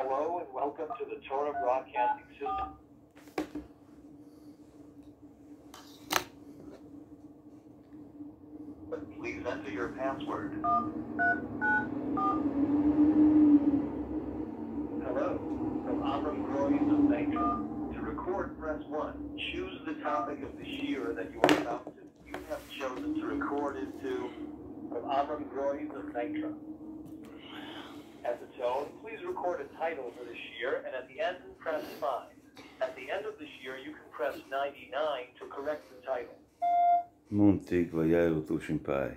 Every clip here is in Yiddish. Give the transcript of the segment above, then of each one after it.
Hello and welcome to the Torah Broadcasting System. Please enter your password. Hello, from Avram Groys of Nitra. To record, press 1. Choose the topic of the shiur that you are about to. You have chosen to record into from Avram Groys of Nitra. At the tone, please record a title for the shiur, and at the end, press 5. At the end of the shiur, you can press 99 to correct the title. מאנטאג וירא תשפ ה.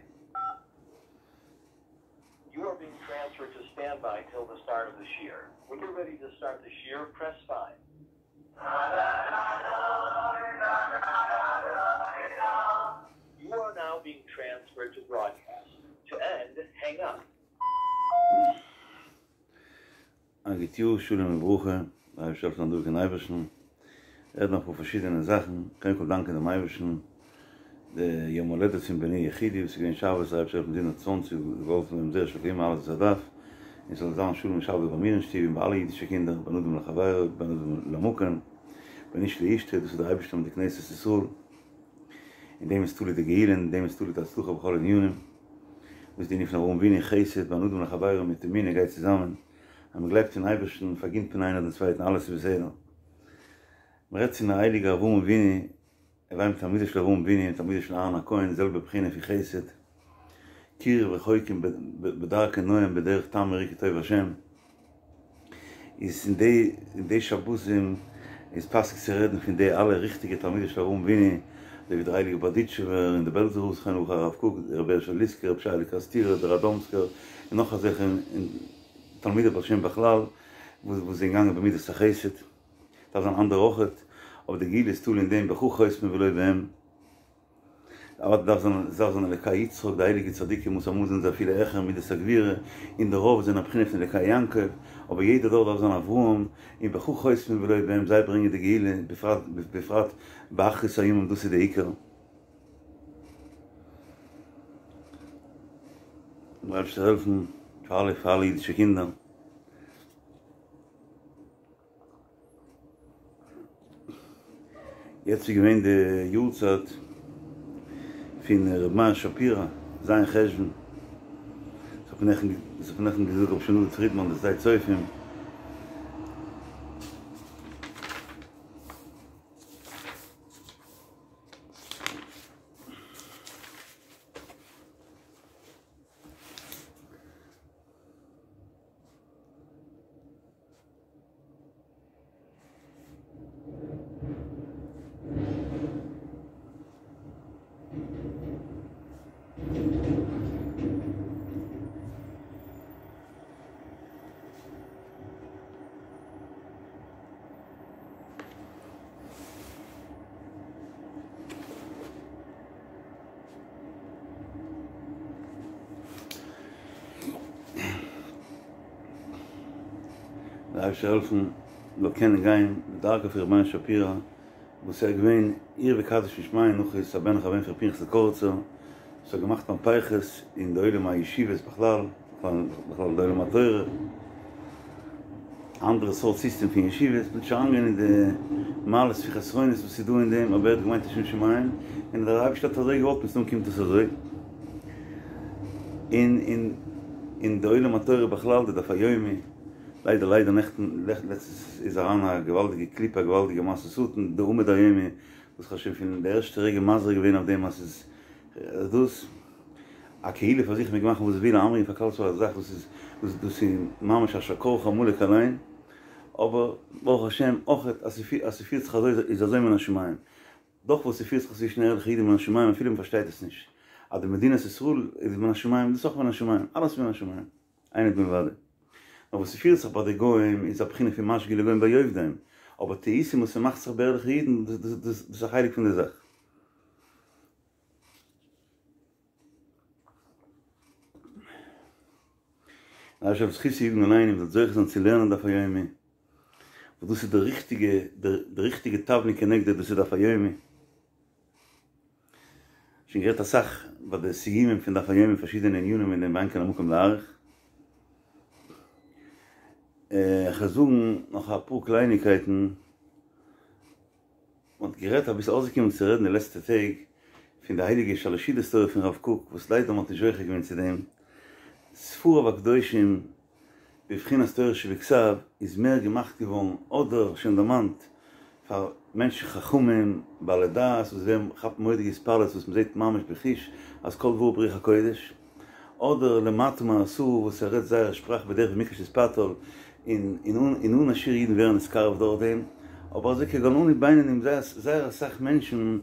You are being transferred to standby till the start of the shiur. When you're ready to start the shiur, press 5. You are now being transferred to broadcast. To end, hang up. א גוט יאר, שלום וברכה, דער אייבערשטער זאל העלפן דורכן אייבערשטן, רעדן אפאר פארשידענע זאכן, קודם כל דאנקען דעם אייבערשטן, די יום הולדת פון בני יחידי וואס איז געווען שבת, דער אייבערשטער זאל העלפן זיבן און צוואנציג, געהאלפן דעם זרע של קיימא אלעס וואס ער דארף, און ס'זאל זיין שלום ושלווה ביי מיר אין שטוב און ביי אלע אידישע קינדער, בין אדם לחבירו, בין אדם למקום, בין איש לאשתו, דאס איז דער אייבערשטער מיט די כנסת ישראל. אין דעם איז תלוי די גאולה, אין דעם איז תלוי די הצלחה בכל ענינים. וואס איז די ענין פון אברהם אבינו חסד בין אדם לחבירו מיט אמונה גייט צוזאמען, אז מען גלייבט אין אייבערשטן פארגינט מען איינער דעם צווייטן אלעס איז בסדר. מען רעדט פון די הייליגע אברהם אבינו, הוי תלמידו של אברהם אבינו און תלמידו של אהרן הכהן די זעלבע בחינה פון חסד, קירוב רחוקים בדרכי נועם בדרך תם וראו כי טוב השם. איז אין די אין די שבתים איז פאסיג צו רעדן פון די אלע ריכטיגע תלמידי של אברהם אבינו, אזוי ווי דער הייליגער בארדיטשובער און דער בעלזער רב זכרונו לברכה הרב קוק, רבי הערשעלע ליסקער, רבי שייעלע קערעסטירער, דער ראדאמסקער, און נאך אזעלכע תלמידי בעל שם בכלל וואס וואס זענען געגאנגען במידת החסד. דארף זיין אנדערע אויכעט, אבער די גאולה איז תלוי אין דעם בך חותמים ולא בהם. אוודאי דארף זיין עס דארף זיין אלקי יצחק די הייליגע צדיקים וואס אמאל זענען זיי אפילו העכער מידת הגבורה און די רוב זענען א בחינה פון אלקי יעקב אבער יעדע דור דארף זיין אברהם און בך חותמים ולא בהם זיי ברענגען די גאולה בפרט בפרט באחרית הימים דאס איז די עיקר. דער אייבערשטער זאל העלפן פאר אלע פאר אלע אידישע קינדער. יעצט איז געווען די יארצייט פון ר' מאיר שפירא, ז' חשוון, ס'האט מיר נעכטן געזאגט ר' שמואל דוד פרידמאן די שדה צופים. דער אייבערשטער זאל העלפן מ'זאל קענען גיין בדרכו פון ר' מאיר שפירא וואס ער איז געווען עיר וקדיש משמיא נאך איז הבן אחר הבן פון ר' פנחס'ל קאריצער וואס האט געמאכט מהפכות אין די עולם הישיבות בכלל בכלל די עולם התורה א אנדערע סארט סיסטעם פון ישיבות מ'וועט נישט אריינגיין אין די מעלות און חסרונות וואס איז דא אין דעם אבער ער האט געמיינט לשם שמים און דער אייבערשטער האט אזוי געוואלט מסתם קומט עס אזוי. און אין אין די עולם התורה בכלל די דף היומי, ליידער ליידער נעכטן לעצטנס איז אריין א געוואלדיגע קליפה א געוואלדיגע מעשה שטן די עמוד היומי וואס כ'האב שוין פון די ערשטע רגע מזהיר געווען אויף דעם אז ס'איז דאס א קהילה פאר זיך מעג מאכן וואס זי וויל איינברענגען פאר כלל ישראל א זאך וואס איז וואס דאס איז ממש אשר קרך עמלק אליין אבער ברוך השם אויכעט אז ס'פירט זיך אזוי איז אזוי מן השמים. דאך וואס ס'פירט זיך צווישן ערליכע אידן מן השמים אפילו מ'פארשטייט עס נישט, אז די מדינת ישראל איז מן השמים דאס איז אויך מן השמים, אלעס איז מן השמים, אין עוד מלבדו. נאר וואס ס'פירט זיך ביי די גוים איז א בחינה פון משגה לגוים ביי-עובדים, אבער טעותים וואס ס'מאכט זיך ביי ערליכע אידן דאס איז א חלק פון די זאך. דער אייבערשטער זכותו יגן עלינו מ'זאל זוכה זיין צו לערנען דף היומי, וואס דאס איז די ריכטיגע די ריכטיגע תבלין כנגדו דאס איז דף היומי. שוין גערעדט אסאך ביי די סיומים פון דף היומי פארשידענע ענינים אין דעם ואין כאן המקום להאריך. כ'וועל זאגן נאך אפאר קלייניקייטן, מ'האט גערעדט אביסל אויסגעקומען צו רעדן די לעצטע טעג פון די הייליגע שלש סעודות תורה פון רב קוק וואס ליידער מ'האט נישט זוכה געווען צו דעם, ספריו הקדושים בבחינת תורה שבכתב איז מער געמאכט געווארן אדער שוין דערמאנט פאר מענטשן חכמים בעלי דעת וואס ווערן כאפן מורא'דיגע התפעלות וואס מ'זעט ממש בחוש אז כל דבריו ברוח הקודש. אדער למטה מעשרה וואס ער רעדט זייער שפראך בדרך ווי מקש יתפתל און און אן א שיעור אידן ווערן נתקרב דורך דעם, אבער אזוי כגון אנו בינונים זייער זייער אסאך מענטשן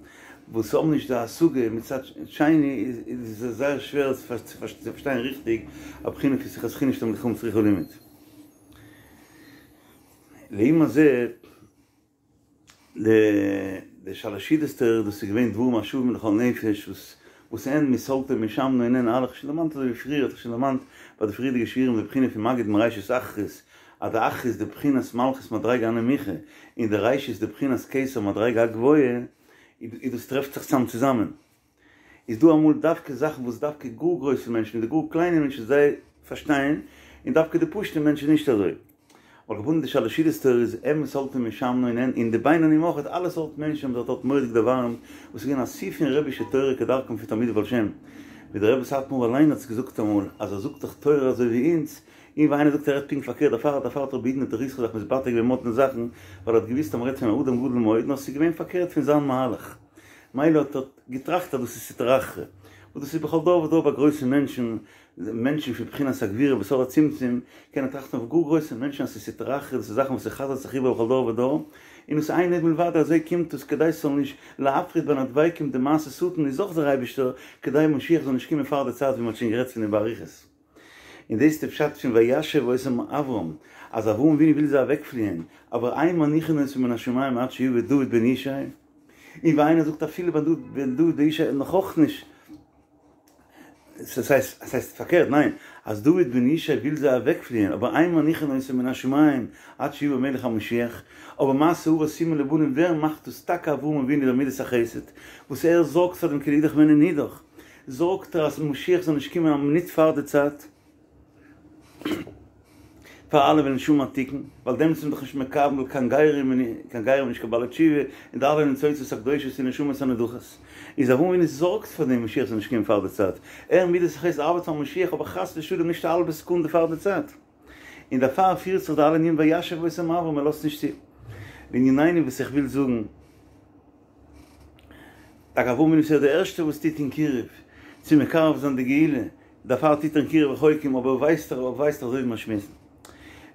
וואס האבן נישט די השגה מצד שני איז עס זייער שווער צו פארשטיין ריכטיג א בחינה פון שיחת חולין שתלמידי חכמים צריכים לימוד. לעומת זה. די שלש סעודות תורה דאס איז געווען דברים השווים לכל נפש וואס וואס אין מסלתו ומשמנו און אין אלע כ'האב שוין דערמאנט אזוי ווי פריער האט איך שוין דערמאנט ביי די פריערדיגע שיעורים די בחינה פון מגיד מראשית אחרית אז די אחרית די בחינת מלכות מדריגה הנמוכה און די ראשית די בחינת כתר מדריגה הגבוהה איז דאס טרעפט זיך צאם צוזאמען. איז דא אמאל דווקא זאכן וואס דווקא גאר גרויסע מענטשן און די גאר קליינע מענטשן זיי פארשטייען, און דווקא די פשוטע מענטשן נישט אזוי. על כל פנים די שלש סעודות תורה איז הן מסלתו ומשמנו און הן און די בינונים אויך אלע סארט מענטשן האבן זיך דארט מורא'דיג דערווארעמט וואס איז געווען א שיא פון רבי'שע תורה כדרכם פון תלמידי בעל שם ווי דער רבי סאטמאר אליין האט עס געזאגט אמאל אז ער זאגט דאך תורה אזוי ווי אונז און ווי איינער זאגט ער רעדט פונקט פארקערט דערפאר דערפאר האט רבי בעידנא דרוסכא זיך מתבטא געווען מאדנע זאכן ווייל ער האט געוואוסט אז מ'רעדט פון א אדם גדול מאוד נאר ס'איז געווען פארקערט פון זיין מהלך. מילא האט ער געטראכט אז דאס איז סטרא אחרא, וואס דאס איז בכל דור ודור ביי גרויסע מענטשן, מענטשן פון בחינת הגבורה בסוד הצמצום, קענען טראכטן אויף גאר גרויסע מענטשן אז ס'איז סטרא אחרא, דאס איז זאכן וואס ס'חזר'ט זיך איבער בכל דור ודור, און דאס אין עוד מלבדו אזוי קומט עס כדי ס'זאל נישט להפריד בין הדבקים די מעשה שטן איז אויך דער אייבישטער כדי משיח זאל נישט קומען פאר די צייט ווי מ'האט שוין גערעדט פון דעם באריכות. און דאס איז די פשט פון וישב אותם אברם, אז אברהם אבינו וויל זיי אוועקפליען, אבער אין מניחין אותו מן השמים עד שיבא דוד בן ישי, און ווי איינער זאגט אפילו בן דוד בן ישי נאך אויך נישט, עס הייסט עס הייסט פארקערט ניין, אז דוד בן ישי וויל זיי אוועקפליען, אבער אין מניחין אותו מן השמים עד שיבא מלך המשיח, אבער מעשה אבות סימן לבנים ווער מאכט דאס טאקע אברהם אבינו דער מידת החסד וואס ער זארגט פאר דעם כי לאידך בעינן נידח, זארגט ער אז משיח זאל נישט קומען א מינוט פאר די צייט, פאר אלע וועלן נישט האבן א תיקון, ווייל דעמאלטס איז מען דאך נישט מקבל קיין גרים און קיין גרים נישט קיין בעלי תשובה, און די אלע ניצוצות הקדושות און נשמות הנדחות. איז אברהם אבינו זארגט פאר דעם משיח זאל נישט קומען פאר די צייט, ער מידת החסד ארבעט פאר משיח אבער חס ושלום נישט א האלבע סעקונדע פאר די צייט. און דערפאר פירט זיך די אלע ענינים וישב אותם אברם ער לאזט נישט צו. לענינינו וואס איך וויל זאגן. טאקע אברהם אבינו איז דער ערשטער וואס טוט אין קירוב, צו מקרב זיין די גאולה, דערפאר טוט ער אין קירוב רחוקים, אבער ווייסט ער ווייסט אזוי ווי מיר שמועסן.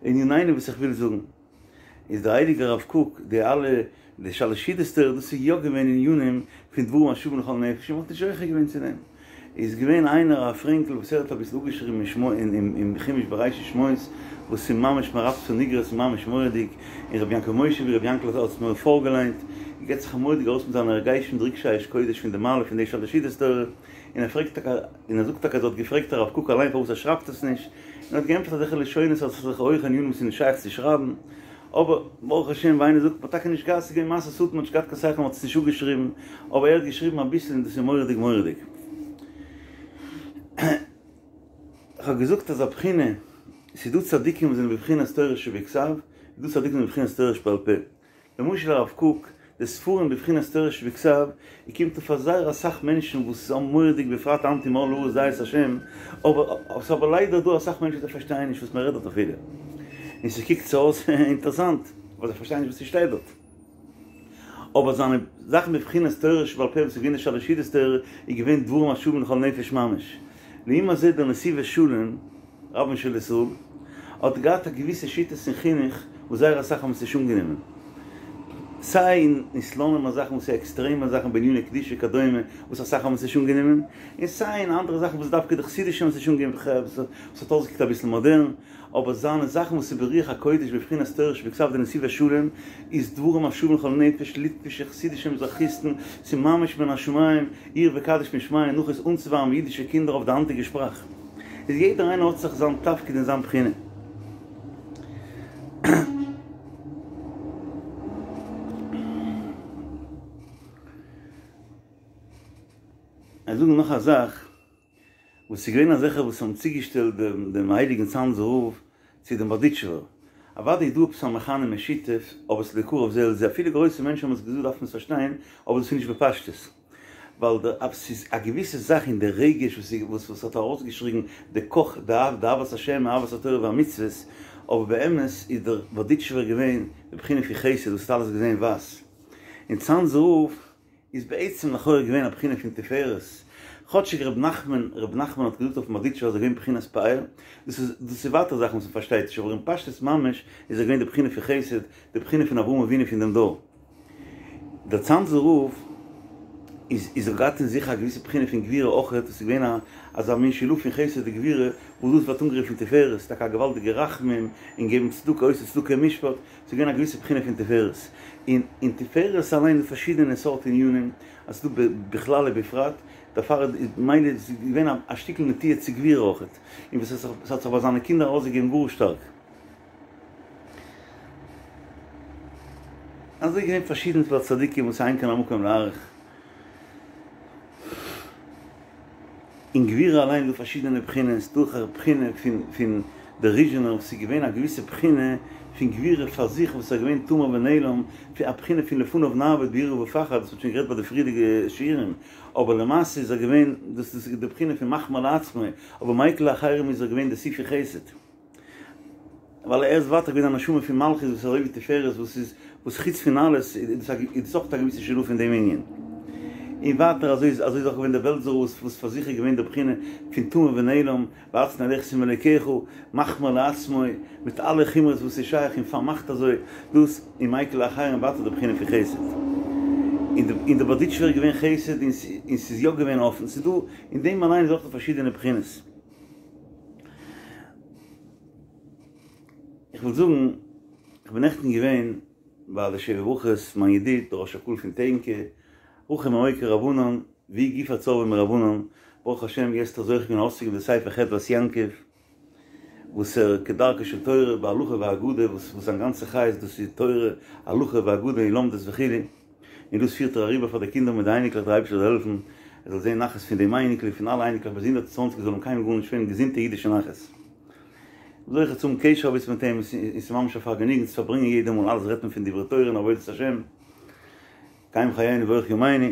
לענינינו וואס איך וויל זאגן, איז דער הייליגער רב קוק, די אלע די שלש סעודות תורה, דאס איז יא געווען ענינים פון דברים השווים לכל נפש, און מ'האט נישט זוכה געווען צו דעם. איז געווען איינער א פרענקל וואס ער האט אביסל אפגעשריבן אין חומש בראשית שמות וואס איז ממש מרפסן איגרות ממש מורא'דיג, און רבי יעקב משה ווי רבי יענקל האט עס מיר פארגעליינט, געבט זיך מורא'דיג ארויס מיט זיינע הרגשים די רגשי אש קודש פון די מעלה פון די שלש סעודות תורה, און ער פרעגט טאקע און ער זאגט טאקע אז ער האט געפרעגט הרב קוק אליין פארוואס ער שרייבט עס נישט, און ער האט געענטפערט אזעלכע לשונות אז עס איז אזעלכע הויכע ענינים וואס איז נישט שייך צו שרייבן, אבער ברוך השם ווי איינער זאגט מ'האט טאקע נישט געהאט ס'איז געווען מעשה שטן מ'האט נישט געהאט קיין שכל מ'האט עס נישט אפגעשריבן, אבער ער האט געשריבן אביסל און דאס איז מורא'דיג מורא'דיג. כ'האב געזאגט אז א בחינה, ס'איז דא צדיקים וואס זענען בבחינת תורה שבכתב, איז דא צדיקים וואס זענען בבחינת תורה שבעל פה. למשל הרב קוק, די ספרים בבחינת תורה שבכתב, ער קומט אויף פאר זייער אסאך מענטשן וואס האבן מורא'דיג בפרט היינט אין מלאה הארץ דעה את השם, אבער ס'איז אבער ליידער דא אסאך מענטשן וואס זיי פארשטייען נישט וואס מ'רעדט דארט אפילו, און ס'קוקט זיי אויס אינטערעסאנט, אבער זיי פארשטייען נישט וואס ס'שטייט דארט. אבער זיינע זאכן בבחינת תורה שבעל פה וואס איז געווען די שלש סעודות תורה איז געווען דברים השווים לכל נפש ממש. לעומת זה דער נתיבות שלום, רבן של ישראל, האט געהאט א געוויסע שיטות אין חינוך וואס זייער אסאך האבן עס נישט אנגענומען. סיי אין סלאנימער זאכן וואס איז עקסטרעמע זאכן בעניני קדושה וכדומה וואס אסאך האבן עס נישט אנגענומען, און סיי אין אנדערע זאכן וואס דווקא די חסידישע האבן עס נישט אנגענומען וואס האט אויסגעקוקט אביסל מאדערן. אבער זיינע זאכן וואס איז ברוח הקודש בבחינת תורה שבכתב די נתיבות שלום איז דברים השווים לכל נפש, ליטווישע חסידישע מזרחיסטן, ס'איז ממש מן השמים, עיר וקדיש משמיא נחות אנצוווארעמען אידישע קינדער אויף די היינטיגע שפראך. איז יעדער איינער האט זיך זיין תפקיד און זיין בחינה. איך זאג נאך א זאך. וואס ס'איז געווען אזעלכע וואס האבן צוגעשטעלט דעם דעם הייליגן צאנזער רב צו דעם בארדיטשובער. אוודאי איז דא עפעס א מכנה משותף, אבער ס'איז לא קרב זה אל זה, אפילו גרויסע מענטשן האבן עס געזאגט דארף מען עס פארשטיין, אבער דאס איז נישט בפשטות. ווייל די אויב ס'איז א געוויסע זאך אין די רגש וואס וואס וואס האט ארויסגעשריגן די קאך די אהבת השם אהבת התורה והמצוות, אבער באמת איז דער בארדיטשובער געווען די בחינה פון חסד וואס האט אלעס געזען ווייס, און צאנזער רב איז בעצם לכאורה געווען א בחינה פון תפארת, כאטשיג ר' נחמן ר' נחמן האט געזאגט אויפן בארדיטשובער אז ער איז געווען בחינת פאר, דאס איז דאס איז ווייטער זאכן וואס מ'פארשטייט נישט אבער אין פשטות ממש איז ער געווען די בחינה פון חסד, די בחינה פון אברהם אבינו פון דעם דור. דער צאנזער רב איז איז האט געהאט אין זיך א געוויסע בחינה פון גבורה אויכעט, עס איז געווען א אזא מין שילוב פון חסד און גבורה, וואס דאס ווערט אנגערופן תפארת, טאקע א געוואלדיגע רחמים און געבן צדקה עושה צדקה ומשפט, ס'איז געווען א געוויסע בחינה פון תפארת, און אין תפארת אליין איז פארשידענע סארט ענינים, אז ס'איז דא בכלל ובפרט, דערפאר איז מילא איז געווען א שטיקל נטייה צו גבורה אויכעט, און וואס עס האט זיך ביי זיינע קינדער ארויסגעגעבן גאר שטארק. אזוי געווען פארשידענס ביי צדיקים וואס אין כאן המקום להאריך. אין גבורה אליין איז דא פארשידענע בחינות, דורך א בחינה פון פון דער ריזשינער וואס איז געווען א געוויסע בחינה פון גבורה פאר זיך וואס איז געווען תמר ונעלם, א בחינה פון לפניו נעבוד ביראה ופחד, דאס האט שוין גערעדט ביי די פריערדיגע שיעורים, אבער למעשה איז ער געווען, דאס איז די בחינה פון מחמיר לעצמו, אבער מיקל לאחרים איז ער געווען די שיא פון חסד. ווייל ער איז ווייטער געווען א נשמה פון מלכות וואס איז אזוי ווי תפארת וואס איז וואס חוץ פון אלעס איז דאס אויך א געוויסע שילוב פון דעם ענין. און ווייטער אזוי איז אזוי איז אויך געווען דער בעלזער רב וואס פאר זיך איז געווען די בחינה פון תמר ונעלם והצנע לכת עם אלוקיך מחמיר לעצמו מיט אלע חומרות וואס איז שייך און פארמאכט אזוי דאס און מיקל לאחרים ווייטער די בחינה פון חסד. און די בארדיטשובער איז געווען חסד און ס'איז יא געווען אפן ס'איז דא אין דעם אליין איז אויך דא פארשידענע בחינות. איך וויל זאגן, איך בין נעכטן געווען ביי די שבע ברכות, מיין ידיד דער ראש הקהל פון טענקע, רחום מעוקר רבנן, והוא גופא צורבא מרבנן, ברוך השם יעצט האט ער זוכה געווען ארויסצוגעבן די ספר חדבת יעקב, וואס ער כדרכה של תורה בהלכה ואגדה, וואס זיין גאנצע חיות דאס איז תורה, הלכה ואגדה און לומדות וכו'. און דאס פירט ער אריבער פאר די קינדער מיט די אייניקלעך, דער אייבערשטער זאל העלפן ער זאל זען נחת פון דעם אייניקל און פון אלע אייניקלעך ביז 120 זאל אים קיינמאל גארנישט פעלן געזונטע אידישע נחת. זוכה צו האבן קשר אביסל מיט אים, און ס'איז ממש א פארגעניגן צו פארברענגען יעדע מאל, אלעס רעדט מען פון דברי תורה און עבודת השם, קיים חיינו ואורך ימינו.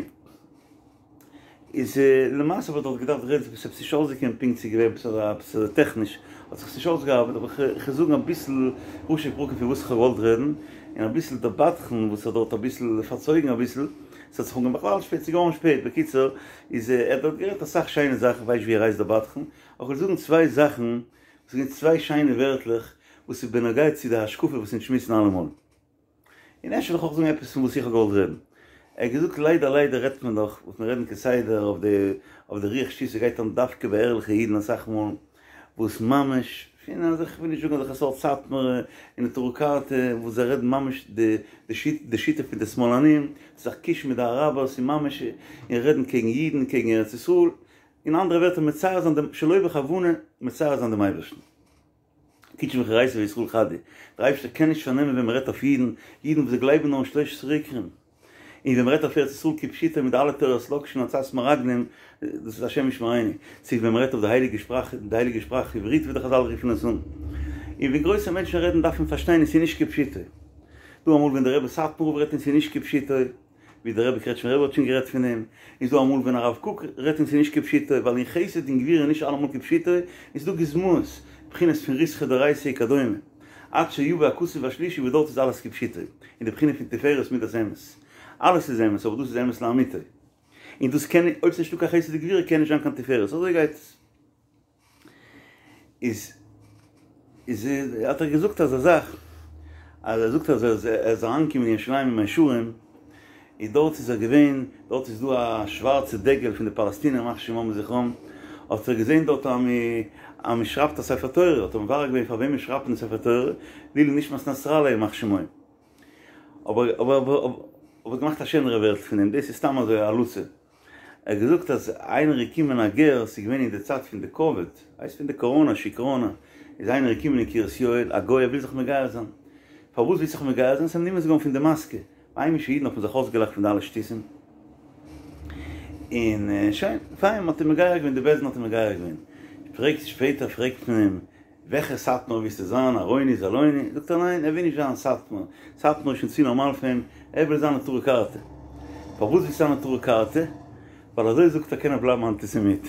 איז למעשה האב איך דארט געדארפט רעדן ס'איז עפעס נישט אויסגעקומען פונקט ס'איז געווען עפעס אזא עפעס אזוי טעכניש האט זיך עס נישט אויסגעארבעט אבער כ'וועל זאגן אביסל ראשי פרקים פון וואס כ'האב געוואלט רעדן און אביסל דער בדחן וואס האט דארט אביסל פארצויגן אביסל ס'האט זיך אנגעהויבן בכלל שפעט ס'איז געווארן שפעט בקיצור איז ער האט דארט גערעדט אסאך שיינע זאכן כ'ווייס נישט ווי ער הייסט דער בדחן אבער כ'וועל זאגן צוויי זאכן וואס איז געווען צוויי שיינע ווערטלעך וואס איז בנוגע צו די השקפה וואס אונז שמועסן אלעמאל. און אפשר וועל איך אויך זאגן עפעס פון וואס איך האב געוואלט רעדן. ער האט געזאגט ליידער ליידער רעדט מען דאך וואס מיר רעדן כסדר אויף די אויף די רוח שטות ס'גייט אן דווקא ביי ערליכע אידן אסאך מאל וואס ממש פון אזעלכע כ'וויל נישט זאגן אזעלכע סארט סאטמארע און נטורי קרתא וואס זיי רעדן ממש די די שיטה פון די שמאלנים זיך קישן מיט די אראבערס און ממש און רעדן קעגן אידן קעגן ארץ ישראל אין אנדערע ווערטער מצער זיין דעם שלא בכוונה מצער זיין דעם אייבערשטן. קודשא בריך הוא אורייתא וישראל חד הוא, דער אייבערשטער קען נישט פארנעמען ווען מען רעדט אויף אידן, אידן וואס זיי גלייבן נאר אין שלש עשרה עיקרים, און ווען מען רעדט אויף ארץ ישראל כפשוטו מיט די אלע תורת לאקשן און עצת מרגלים, דאס איז השם ישמרינו, צו ווען מען רעדט אויף די הייליגע שפראך, די הייליגע שפראך עברית ווי די חזל רופן עס אן, און ווען גרויסע מענטשן רעדן דארף מען פארשטיין עס איז נישט כפשוטו, דא אמאל ווען דער רבי סאטמאר רב רעדט און עס איז נישט כפשוטו. ווי דער רבי קרעטשמער רבי האט שוין גערעדט פון דעם, איז דא אמאל ווען הרב קוק רעדט און ס'איז נישט כפשוטו, ווייל אין חסד און גבורה איז נישט אלעמאל כפשוטו, איז דא גוזמאות, בחינות פון ריתחא דאורייתא וכדומה, עד שיבא הכתוב השלישי וואס דארט איז אלעס כפשוטו, אין די בחינה פון תפארת מידת אמת. אלעס איז אמת, אבער דאס איז אמת לאמיתו. און דאס קען, אויב ס'איז נישטא קיין חסד וגבורה קען נישט זיין קיין תפארת, אזוי גייט עס. איז איז האט ער געזאגט אזא זאך אז ער זאגט אז ער איז אריינגעקומען אין ירושלים אין מאה שערים איז דארט איז ער געווען דארט איז דא א שווארצע דגל פון די פאלעסטינער ימח שמם וזכרם האט ער געזען דארט אז מען שרייבט א ספר תורה האט ער מברר געווען פאר וועם מען שרייבט אין ספר תורה לעילוי נשמת נסראללה ימח שמו אבער אבער אבער געמאכט א שענערע ווערטל פון דעם דאס איז סתם אזוי א הלצה. ער האט געזאגט אז איינער איז געקומען א גר, ס'איז געווען אין די צייט פון די קאוויד, הייסט פון די קאראנא שיקראנא, איז איינער געקומען אין קרית יואל, א גוי ער וויל זיך מגייר זיין, פארוואס ווילסט זיך מגייר זיין? ס'איז אים נמאס געווארן פון די מאסקע, ביי היימישע אידן האט מען זיך אויסגעלאכט פון די אלע שטותים, און שוין, פיין, מ'האט אים מגייר געווען, די בית דין האט אים מגייר געווען, פרעגט שפעטער פרעגט מען אים. וועלכע סאטמאר ווילסטו זיין, ארויני, זאלויני? זאגט ער ניין, ער וויל נישט זיין סאטמאר, סאטמאר איז שוין צו נארמאל פאר אים, ער וויל זיין נטורי קרתא. פארוואס ווילסטו זיין נטורי קרתא? ווייל אזוי זאגט ער קען ער בלייבן אנטיסעמיט.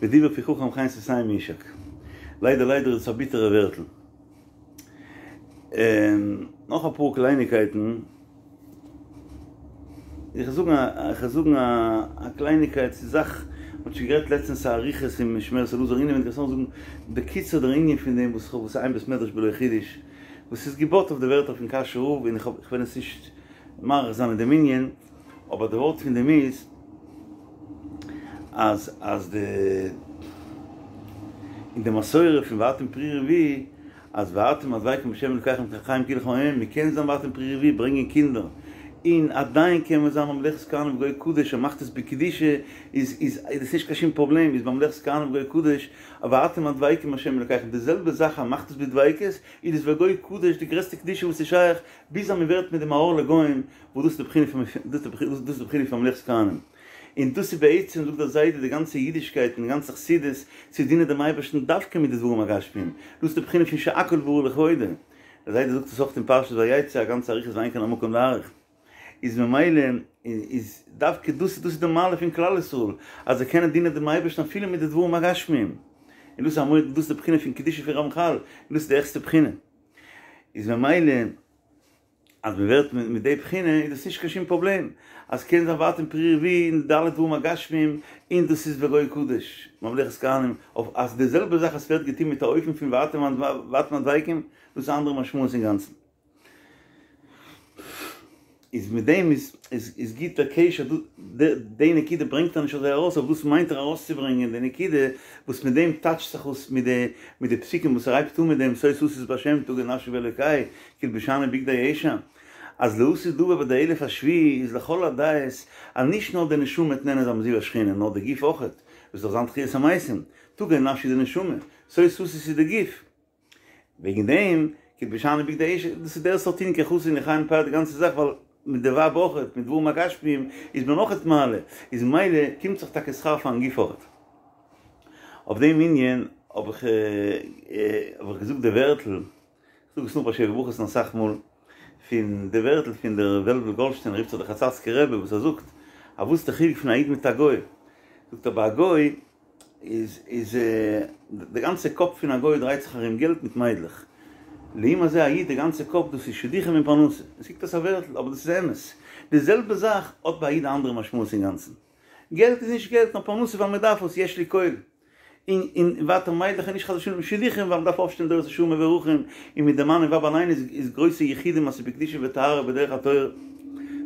ודברי פי חכם חן שפתים יישק. ליידער ליידער איז עס א ביטערע ווערטל. נאך אפאר קלייניקייטן. איך זאגן א איך זאגן א קלייניקייט ס'איז זאך מ'האט שוין גערעדט לעצטענס א אריכות אין משמרת אלעזר אינעווייניג איך זאל זאגן בקיצור דער ענין פון דעם וואס כ'האב וואס אין בית מדרש בלא חידוש וואס איז געבויט אויף די ווערטער פון קאשוי רב און איך האב איך וועל עס נישט מאריך זיין אין דעם ענין אבער די ווארט פון דעם איז אז אז די אין די מסורה פון ואתם פרו ורבו אז ואתם הדבקים בהשם אלקיכם חיים כלכם היום, מען קען זיין ואתם פרו ורבו, ברענגען קינדער, און עדיין קען מען זיין ממלכת כהנים וגוי קדוש, ער מאכט עס בקדושה, איז איז איז עס נישט קיין שום פראבלעם, איז ממלכת כהנים וגוי קדוש, ואתם הדבקים בהשם אלקיכם, די זעלבע זאך אז מאכט עס בדביקות, איז עס וגוי קדוש די גרעסטע קדושה וואס איז שייך, ביז אז מען ווערט מיט דעם א אור לגוים, וואס דאס איז די בחינה פון דאס איז די בחינה פון ממלכת כהנים. און דאס איז בעצם זאגט דער זיידע די גאנצע אידישקייט און די גאנצע חסידות צו דינען דעם אייבערשטן דווקא מיט די דברים הגשמיים, דאס איז די בחינה פון שהכל ברא לכבודו, דער זיידע זאגט עס אויך אין פרשת ויצא א גאנצע אריכות ואין כאן המקום להאריך, איז ממילא איז דווקא דאס דאס איז די מעלה פון כלל ישראל אז זיי קענען דינען דעם אייבערשטן אפילו מיט די דברים הגשמיים, און דאס איז א דאס איז די בחינה פון קדושה פון רמחל, און דאס איז די העכסטע בחינה, איז ממילא. אז מען ווערט מיט די בחינה איז דאס נישט קיין שום פראבלעם, אז קען זיין ואתם פרו ורבו אין די אלע דברים הגשמיים, און דאס איז וגוי קדוש, ממלכת כהנים, אויף אז די זעלבע זאך עס ווערט געטון מיט א אופן פון ואתם ואתם הדבקים, דאס איז א אנדערע משמעות אינגאנצן. איז מיט דעם איז איז גוט דער קשר, די נקודה ברענגט ער נישט אזוי ארויס, אבער דאס מיינט ער ארויסצוברענגען די נקודה וואס מיט דעם טאטשט זיך אויס מיט די מיט די פסוקים וואס ער הייבט אן מיט דעם שא תשיש בהשם תגל נפשי באלקי כי הלבישני בגדי ישע אז לעתיד לבא ביי די אלף השביעי איז לכל הדעות אז נישט נאר די נשמה וועט נהנה זיין מזיו השכינה נאר די גוף אויכעט וואס דארף זיין תחיית המתים תגל נפשי די נשמה שא תשיש איז די גוף וועגן דעם כי הלבישני בגדי ישע, דאס איז דער סארט ענין כי חסון לחיים פאר די גאנצע זאך ווייל מיט די ווייב אויכעט, מיט דברים הגשמיים איז מען אויכעט מעלה, איז ממילא קומט זיך טאקע שכר פארן גוף אויכעט. אויף דעם ענין האב איך האב איך געזאגט די ווערטל, איך זאג עס נאך ביי שבע ברכות'ן אסאך מאל, פון די ווערטל פון דער וועלוול גאלדשטיין רופט זיך דער חצאצקער רבי וואס ער זאגט אז וואס איז די חילוק פון א איד מיט א גוי, זאגט ער ביי א גוי איז איז די גאנצע קאפ פון א גוי דרייט זיך ארום געלט מיט מיידלעך, לעומת זה א איד די גאנצע קאפ דאס איז שידוכים און פרנסה, עס קוקט אויס א ווערטל אבער דאס איז אמת, די זעלבע זאך האט ביי א איד א אנדערע משמעות אינגאנצן, געלט איז נישט געלט נאר פרנסה ווייל מען דארף עס, יש לי כל, און און ווייטער מיידלעך איז נישט חס ושלום שידוכים ווייל מען דארף אויפשטעלן דורות ישרים מבורכים, און מיט די מאן און ווייב אליין איז איז גרויסע יחודים אז ס'איז בקדושה וטהרה בדרך התורה,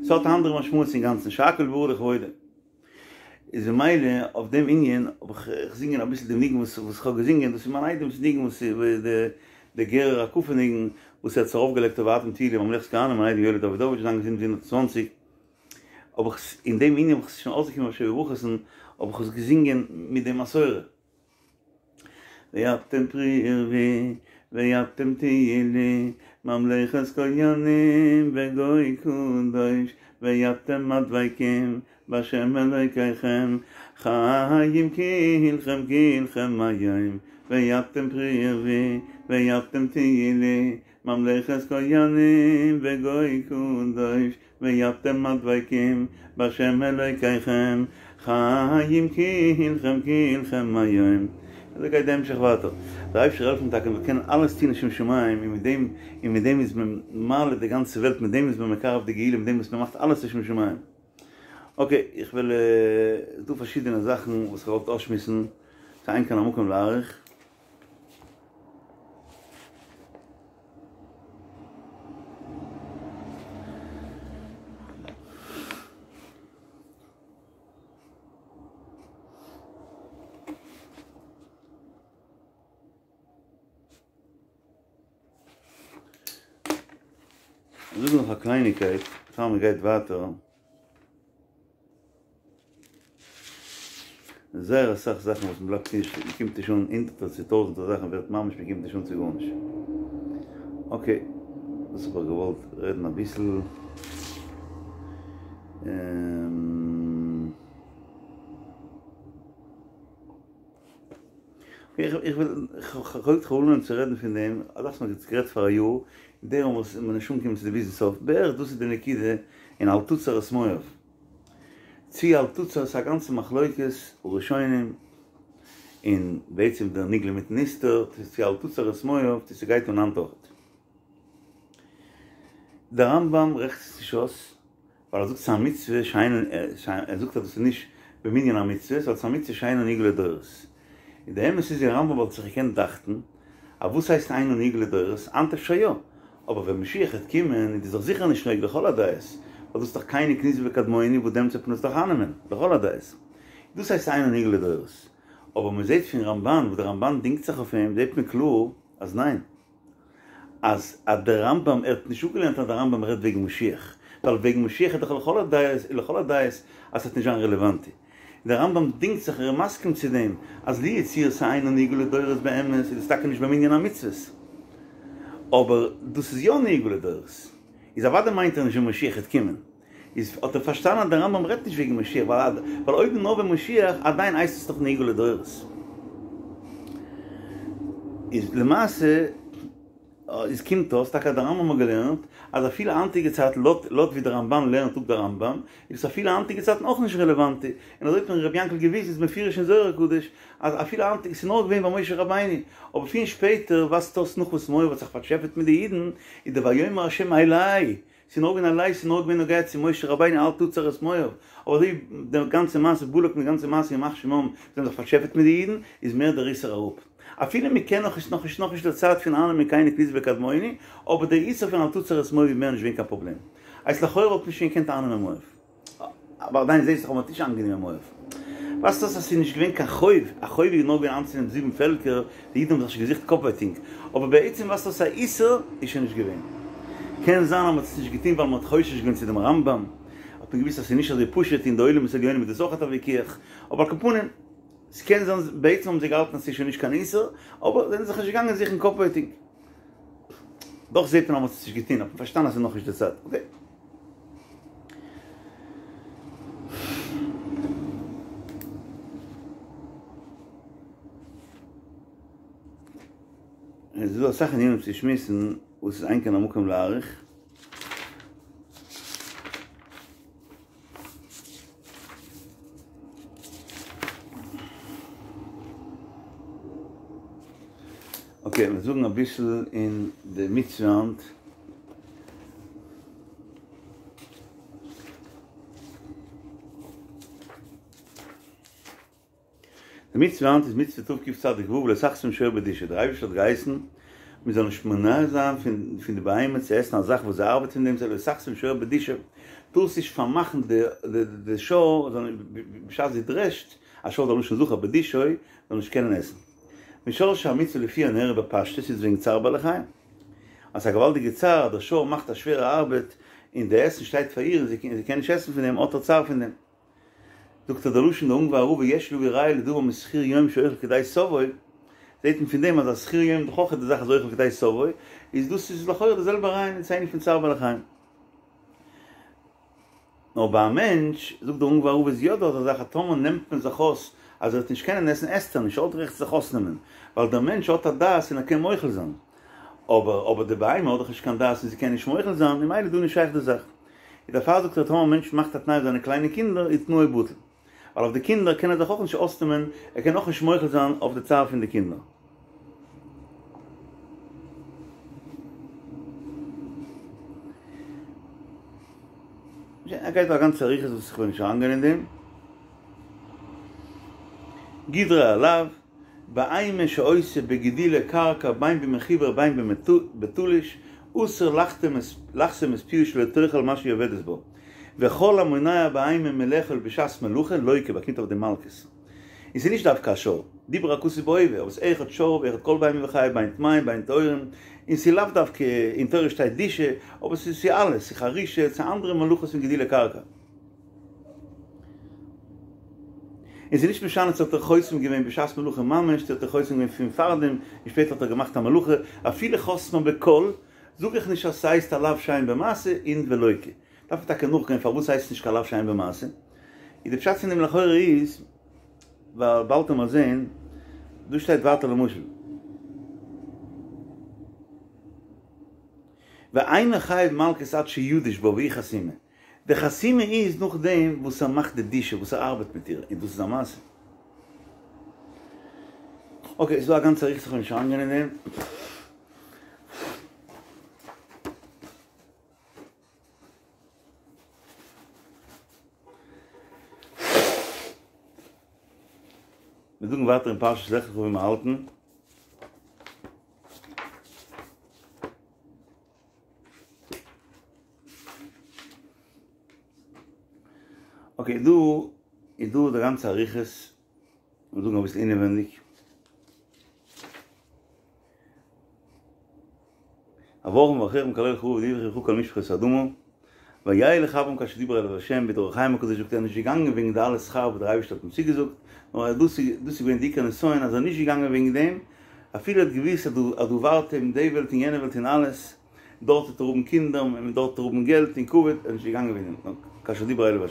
ס'האט א אנדערע משמעות אינגאנצן, שהכל ברא לכבודו. איז ממילא אויף דעם ענין האב איך געזינגען אביסל דעם ניגון וואס וואס כ'האב געזינגען, דאס איז מיין איידעמ'ס ניגון וואס איז די די גערער הקפה ניגון וואס ער האט עס ארויפגעלייגט אויף ואתם תהיו לי ממלכת כהנים, מיין איידעם יואלי דאווידאוויטש זיין געזונט 120, האב איך עס אין דעם ענין האב איך עס שוין אויסגעקומען ביי שבע ברכות'ן האב איך עס געזינגען מיט די מסורה. ואתם פרו ורבו ואתם תהיו לי ממלכת כהנים וגוי קדוש ואתם הדבקים בהשם אלוקיכם חיים כלכם כלכם היום ואתם פרו ורבו ואתם תהיו לי ממלכת כהנים וגוי קדוש ואתם הדבקים בהשם אלוקיכם חיים כלכם כלכם היום. אזוי גייט די המשך ווייטער. דער אייבשטער העלפן טאקע מיר קענען אלעס טון לשם שמים און מיט דעם און מיט דעם איז מען מעלה די גאנצע וועלט מיט דעם איז מען מקרב די גאולה מיט דעם וואס מען מאכט אלעס לשם שמים. אקעי איך וועל ס'איז דא פארשידענע זאכן וואס איך וואלט אויסשמועסן ס'אין כאן המקום להאריך. זאג נאך א קלייניקייט פאר מען גייט ווייטער. זייער אסאך זאכן וואס מ'בלייבט נישט, מ'קומט נישט אן הונדערטער צו טויזענטער זאכן ווערט ממש מ'קומט נישט אן צו גארנישט. אקעי, דאס האב איך געוואלט רעדן אביסל. איך וויל, כ'האב אנגעהויבן צו רעדן פון דעם, א זאך וואס מ'האט גערעדט פאר א יאר, און דערום וואס מ'איז נישט אנגעקומען צו די ביזן סוף, בערך דאס איז די נקודה אין אל תצר את מואב. צי אל תצר איז א גאנצע מחלוקת הראשונים, און בעצם דער נגלה מיטן נסתר, צו אל תצר את מואב, צו ס'גייט אן היינט אויכעט. דער רמב"ם רעכנט עס נישט אויס, ווייל ער זאגט ס'איז א מצוה שאינו, ער זאגט אז דאס איז נישט במנין המצוות, ווייל ס'איז א מצוה שאינה נהוגה לדורות. און די אמת איז אין רמב"ם וואלט זיך געקענט דאכטן, אז וואס הייסט אינה נהוגה לדורות, היינט אפשר יא, אבער ווען משיח העט קומען איז דאס דאך זיכער נישט נוהג לכל הדעות, ווייל דאס איז דאך קיני קניזי וקדמוני וואס דעמאלטס וועט מען עס דאך אייננעמען לכל הדעות. דאס הייסט אינה נהוגה לדורות. אבער מען זעט פון רמב"ן וואס דער רמב"ן דינגט זיך אויף אים זעט מען קלאר אז ניין. אז אז דער רמב"ם ער האט נישט אפגעלערנט אז דער רמב"ם רעדט וועגן משיח, ווייל וועגן משיח איז דאך לכל הדעות לכל הדעות אז ס'וועט נישט זיין רעלעוואנט. דער רמב"ם דינגט זיך ער איז מסכים צו דעם אז לו יצוייר ס'אינה נהוגה לדורות באמת איז דאס טאקע נישט במנין המצוות אבער דאס איז יא נהוגה לדורות איז אוודאי מיינט ער נישט ווען משיח העט קומען איז האט ער פארשטאנען אז דער רמב"ם רעדט נישט וועגן משיח ווייל אויב נאר ווען משיח עדיין הייסט עס דאך נהוגה לדורות איז למעשה איז קומט אויס טאקע אז דער רמב"ם האט געלערנט אז אפילו היינטיגע צייטן לויט לויט ווי דער רמב"ן לערנט אפ דער רמב"ם איז עס אפילו היינטיגע צייטן אויך נישט רעלעוואנט, און אזוי האט מיר רבי יענקל געוויזן איז מפורש אין זוהר הקדוש אז אפילו היינטיגע ס'איז נאר געווען ביי משה רבינו אבער פון שפעטער ווייזט אויס נאך וואס מואב האט זיך פארטשעפעט מיט די אידן איז דער ויאמר ה' אלי ס'איז נאר געווען אלי ס'איז נאר געווען נוגע צו משה רבינו אל תצר את מואב, אבער אזוי ווי די גאנצע מעשה בלק מיט די גאנצע מעשה ימח שמם זיי האבן זיך פארטשעפעט מיט די אידן איז מער דער איסור אראפ. אפילו מ'קען נאך איז נאכנישט נאכנישט די צייט פון אייננעמען קיני קניזי וקדמוני, אבער דער איסור פון אל תצר את מואב איז מער נישט געווען קיין פראבלעם. הייסט לכאורה וואלט מען שוין געקענט אייננעמען מואב. אבער עדיין זעהסט דאך אז מ'האט נישט איינגענומען מואב. ווייזט אויס אז ס'איז נישט געווען קיין חוב, א חוב איז נאר געווען איינצונעמען זיבן פעלקער, די אידן האבן זיך נישט געזוכט קאפווייטינג, אבער בעצם ווייזט אויס א איסור איז שוין נישט געווען. קען זיין אז מ'האט עס נישט געטון ווייל מ'האט חושש געווען צו דעם רמב"ם, האט מען געוואוסט אז ס'איז נישט אזוי פשוט אין די עולמות עליונים איז דאס אויך א ויכוח, אבער על כל פנים, ס'קען זיין בעצם האבן זיי געהאלטן אז ס'איז שוין נישט קיין איסור, אבער זיי זענען זיך נישט געגאנגען זוכן קאפווייטינג. דאך זעט מען אז מ'האט עס נישט געטון, האט מען פארשטאנען אז ס'איז נאכנישט די צייט. אקעי. עס איז דא אסאך ענינים צו שמועסן וואס איז אין כאן המקום להאריך. אקעי, מיר זאגן אביסל אין די מצוה היינט. די מצוה היינט איז מצוה תקצ"ו לא תחסום שור בדישו, דער אייבערשטער האט געהייסן מען זאל נישט מונע זיין פון די בהמה צו עסן א זאך וואס זי ארבעט פון דעם, לא תחסום שור בדישו, טארסט נישט פארמאכן די שור בשעת זי דרעשט, א שור איז א לשון זכר, בדישו זאל נישט קענען עסן. משרשי המצוה לפי הנראה בפשטות איז וועגן צער בעלי חיים. אז ס'איז א געוואלדיגע צער אז דער שור מאכט א שווערע ארבעט און די עסן שטייט פאר איר און זי קען נישט עסן פון דעם האט ער צער פון דעם. זאגט ער די לשון די אונגוואר רב יש להביא ראיה לדבר משכיר יום שאוכל כדי שובעו, זעהט מען פון דעם אז א שכיר יום איז דאך אויך די זאך אז אוכל כדי שובעו, איז דאס איז לכאורה די זעלבע רעיון און ס'איז ענין פון צער בעלי חיים. נאר ביי א מענטש, זאגט דער אונגוואר רב איז יא דא אזא זאך אז טאמער נעמט מען זיך אויס אז ער וועט נישט קענען עסן עסט ער נישט, ער האט רעכט זיך אויסנעמען, ווייל דער מענטש האט א דעת און ער קען מוחל זיין, אבער אבער די בהמה האט דאך נישט קיין דעת און זי קען נישט מוחל זיין, ממילא איז דא נישט שייך די זאך. איז דערפאר זאגט ער טאמער א מענטש מאכט א תנאי אויף זיינע קליינע קינדער איז תנאו בטל. ווייל אויף די קינדער קען ער זיך אויך נישט אויסנעמען, ער קען אויך נישט מוחל זיין אויף די צער פון די קינדער. ער גייט דא א גאנצע אריכות וואס איך וויל נישט אריינגיין אין דעם. גדרי הלאו, בהמה שעושה בגידולי קרקע בין במחובר בין בתלוש, אסור לחסום את פיה שלא תאכל מה שהיא עובדת בו. וכל המונע בהמה מלאכול בשעת מלאכה לוקה באקומט אויף דעם מלקות. און ס'איז נישט דווקא א שור, דיבר הכתוב בהווה, אבער ס'איז אחד שור ואחד כל בהמה וחיה בין טמאים בין טהורים, און ס'איז לאו דווקא, אין תורה שטייט דישה, אבער ס'איז ס'איז אלעס, ס'איז חרישה, ס'איז אנדערע מלאכות פון גידולי קרקע. און ס'איז נישט משנה צו האט ער חוסם געווען בשעת מלאכה ממש, צו האט ער חוסם געווען פון פארדעם און שפעטער האט ער געמאכט א מלאכה, אפילו חסמה בקול, זאג איך נישט אז ס'הייסט א לאו שאין בו מעשה און ולוקה. דארף מען טאקע נאכגיין פארוואס ס'הייסט נישט קיין לאו שאין בו מעשה. איז די פשט פון דעם לכאורה איז, ווייל באלד וועט מען זעהן. דא שטייט ווייטער למשל. ואינו חייב מלקות עד שידוש בה והיא חתימה. די חתימה איז נאכדעם וואס ער מאכט די דישה, וואס ער ארבעט מיט איר, און דאס איז א מעשה. אקעי, ס'איז דא א גאנצע אריכות איך וועל נישט אריינגיין אין דעם. מיר זאגן ווייטער אין פרשת לך לך ווי מיר האלטן. אקעי דא איז דא די גאנצע אריכות, מיר זאגן אביסל אינעווענדיג. אברכים מברכיך ומקללך ארור ונברכו בך כל משפחות האדמה, וילך אברם כאשר דיבר אליו ה' ווי דער אור החיים הקדוש זאגט ער איז נישט געגאנגען וועגן די אלע שכר וואס דער אייבערשטער האט אים צוגעזאגט, נאר דאס איז דאס איז געווען די עיקר נסיון אז ער איז נישט געגאנגען וועגן דעם, אפילו ער האט געוואוסט אז דא אז דא ווארט אים די וועלט און יענע וועלט און אלעס, דארט וועט ער האבן קינדער און דארט וועט ער האבן געלט און כבוד, ער איז נישט געגאנגען וועגן דעם, נאר כאשר דיבר אליו ה'.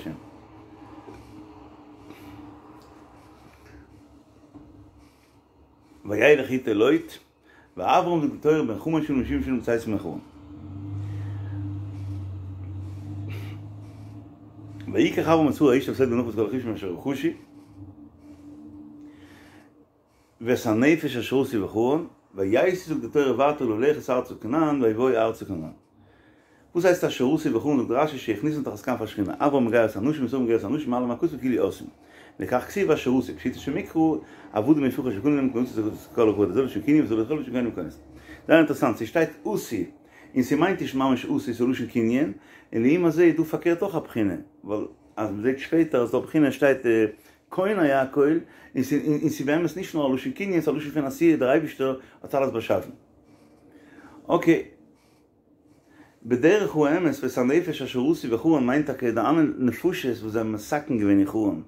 וילך איתו לוט. ואברם זאגט די תורה בן חמש שנים ושבעים שנה בצאתו מחרן. ויקח אברם את שרה אשתו ואת לוט בנו ואת כל רכושם אשר רכשו ואת הנפש אשר עשו בחרן ויסעו זאגט די תורה ווייטער ללכת ארצה כנען ויבואו ארצה כנען. וואס הייסט אשר עשו בחרן זאגט רשי שהכניסם תחת כנף השכינה אברהם מגייר את האנשים ושרה מגיירת את האנשים מעלים הכתוב כאילו עשאום לכך כתיב אשר עשו פשוטו של מקרא עבדים יפרחו שקנו להם קנאות את כל הכבוד הזה לשון קנין וזו לכל לשון קנין וכנס. זייער אינטערעסאנט ס'שטייט עשו און ס'מיינט נישט ממש עשו ס'איז לשון קנין און לעומת זה איז דא פארקערט אויך א בחינה ווייל אז מ'זעט שפעטער אז דא בחינה שטייט קונה הכל און ס'איז באמת נישט נאר א לשון קנין ס'איז א לשון פון עשייה דער אייבישטער האט אלעס באשאפן. אקעי. בדרך האמת ואת הנפש אשר עשו בחרן מיינט טאקע די אלע נפשות וואס זיי האבן מתקן געווען אין חרן,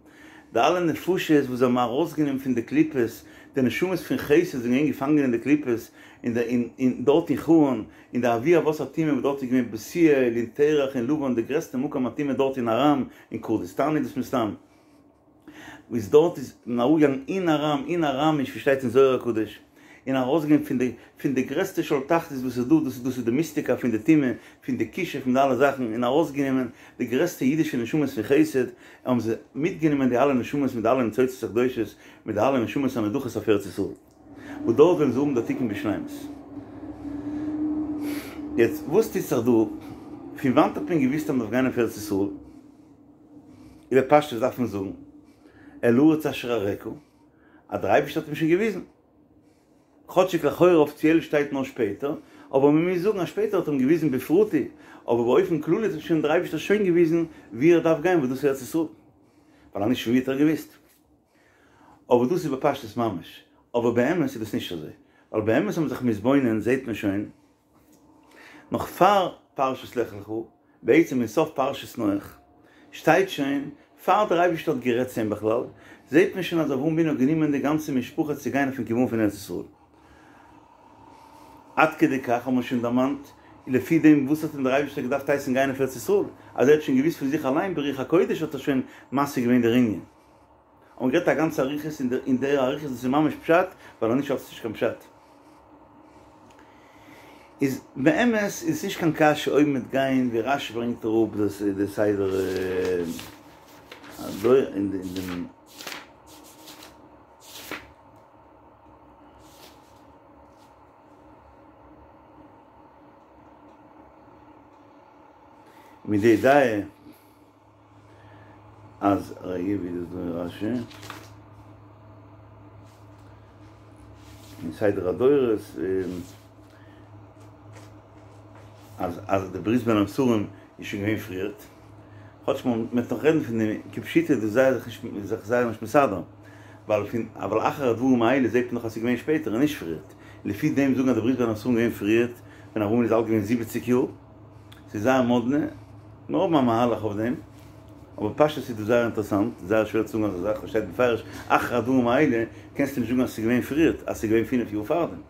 די אלע נפשות וואס זיי האבן ארויסגענומען פון די קליפות, די נשמות פון חסד זענען געווען געפאנגען אין די קליפות, אין די אין דארט אין חרן, אין די אבי אבות הטומאה וואס דארט איז געווען בתואל און תרח און לבן די גרעסטע מקום הטומאה דארט אין ארם, אין קורדיסטאן איז דאס מסתם. וואס דארט איז מען אראפגעגאנגען אין ארם, אין אראמיש ווי שטייט אין זוהר הקדוש, און ארויסגעגאנגען פון די פון די גרעסטע שאול תחתית וואס איז דא, דאס איז דאס איז די מיסטיקה פון די טומאה, פון די כישוף פון די אלע זאכן, און ארויסגענומען די גרעסטע אידישע נשמות פון חסד, האבן זיי מיטגענומען די אלע נשמות מיט די אלע ניצוצות הקדושות, מיט די אלע נשמות הנדחות אויף ארץ ישראל, וואס דארט וועלן זיי האבן די תיקון בשלימות. יעצט וואס טוט זיך דא? פון וואנט האט מען געוואוסט אז מען דארף גיין אויף ארץ ישראל? איז בפשטות דארף מען זאגן אל הארץ אשר אראך, אז דער אייבערשטער האט אים שוין געוויזן, כאטשיג לכאורה אפיציעל שטייט נאר שפעטער, אבער מען מוז זאגן אז שפעטער האט ער אים געוויזן בפרטי, אבער באופן כללי האט אים שוין דער אייבערשטער שוין געוויזן וואו ער דארף גיין וואס דאס איז ארץ ישראל, ווייל אנישט פון וואו האט ער געוואוסט? אבער דאס איז בפשטות ממש, אבער באמת איז דאס נישט אזוי, ווייל באמת אז מ'איז זיך מתבונן זעט מען שוין נאך פאר פרשת לך לך, בעצם אין סוף פרשת נח שטייט שוין פאר דער אייבערשטער האט גערעדט צו אים בכלל, זעט מען שוין אז אברהם אבינו האט גענומען די גאנצע משפחה צו גיין אויפן כיוון פון ארץ ישראל. עד כדי כך האט מען שוין דערמאנט, לפי דעם וואס האט אים דער אייבערשטער געדארפט הייסן גיין אויף ארץ ישראל, אז ער האט שוין געוואוסט פון זיך אליין ברוח הקודש האט ער שוין משיג געווען דער ענין. האט מען גערעדט א גאנצע אריכות אין דער אריכות דאס איז ממש פשט, ווייל אנישט האט עס נישט קיין פשט. איז באמת איז עס נישט קיין קשיא אויב מ'וועט גיין ווי רשי ברענגט אראפ דאס איז די סדר הדור אין דעם מיט די דעה אז רגע ווי איז דאס דא אין רשי? אין סדר הדורות אז אז די ברית בין הבתרים איז שוין געווען פריערט, כאטש מען וועט נאך רעדן פון דעם כפשוטו איז דאס זייער זיך נישט זיך זייער נישט מסדר, ווייל פון אבל אחר הדברים האלה זעט מען דאך אז ס'איז געווען שפעטער און נישט פריערט, לפי דעם זאגן אז די ברית בין הבתרים איז געווען פריערט ווען אברהם איז אלט געווען זיבעציג יאר. ס'איז זייער מאדנע, מיר האבן א מהלך אויף דעם, אבער פשטות איז דאס זייער אינטערעסאנט, זייער שווער צו זאגן אזא זאך, ס'שטייט בפירוש אחר הדברים האלה, קענסטו נישט זאגן אז ס'איז געווען פריערט, אז ס'איז געווען פינף יאר פארדעם.